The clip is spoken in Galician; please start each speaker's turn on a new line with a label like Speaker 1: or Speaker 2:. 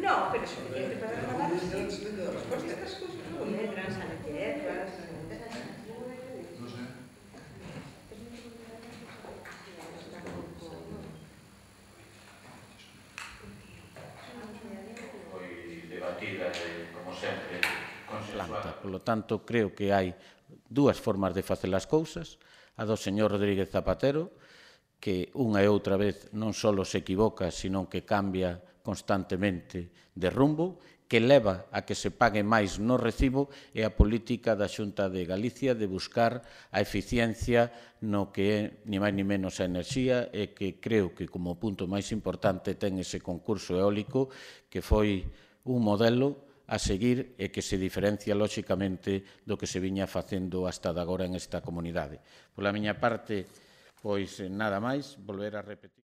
Speaker 1: No, pero suficiente para rematar as outras cousas non medran, sanitietas,
Speaker 2: Non sei.
Speaker 3: Foi debatida e, como sempre, consensuada.
Speaker 4: Polo tanto, creo que hai dúas formas de facer as cousas, a do señor Rodríguez Zapatero, que unha e outra vez non só se equivoca, sino que cambia constantemente de rumbo, que leva a que se pague máis no recibo, e a política da Xunta de Galicia de buscar a eficiencia no que é ni máis ni menos a enerxía, e que creo que como punto máis importante ten ese concurso eólico que foi un modelo a seguir e que se diferencia lóxicamente do que se viña facendo hasta de agora en esta comunidade. Pola miña parte, pois nada máis, volver a repetir.